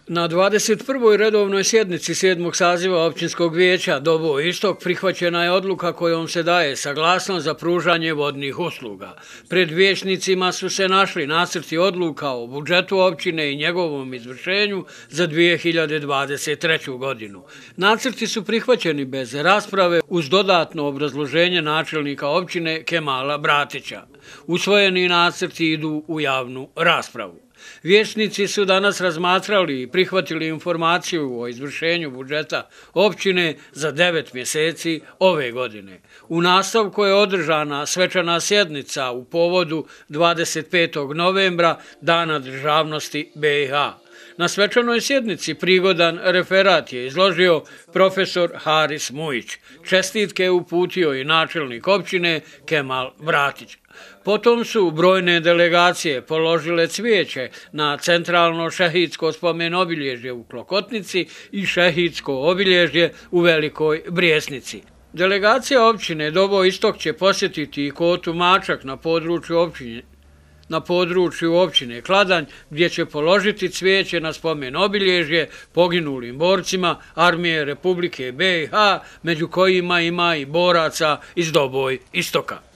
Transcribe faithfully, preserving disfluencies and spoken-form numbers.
Na dvadeset prvoj redovnoj sjednici sedmog saziva općinskog vijeća Doboj Istok prihvaćena je odluka kojom se daje saglasnost za pružanje vodnih usluga. Pred vijećnicima su se našli nacrti odluka o budžetu općine i njegovom izvršenju za dvije hiljade dvadeset treću. godinu. Nacrti su prihvaćeni bez rasprave uz dodatno obrazloženje načelnika općine Kemala Bratića. Usvojeni nacrti idu u javnu raspravu. Vijećnici su danas razmatrali i prihvatili informaciju o izvršenju budžeta općine za devet mjeseci ove godine. U nastavku je održana svečana sjednica u povodu dvadeset petog novembra, Dana državnosti B i H. Na svečanoj sjednici prigodan referat je izložio profesor Haris Mujić. Čestitke je uputio i načelnik općine Kemal Bratić. Potom su brojne delegacije položile cvijeće na centralno šehidsko spomen obilježje u Klokotnici i šehidsko obilježje u Velikoj Brijesnici. Delegacija općine Doboj Istok će posjetiti i Kotu Mačak na području općine na području općine Kladanj, gdje će položiti cvijeće na spomen obilježje poginulim borcima Armije Republike B i H, među kojima ima i boraca iz Doboj Istoka.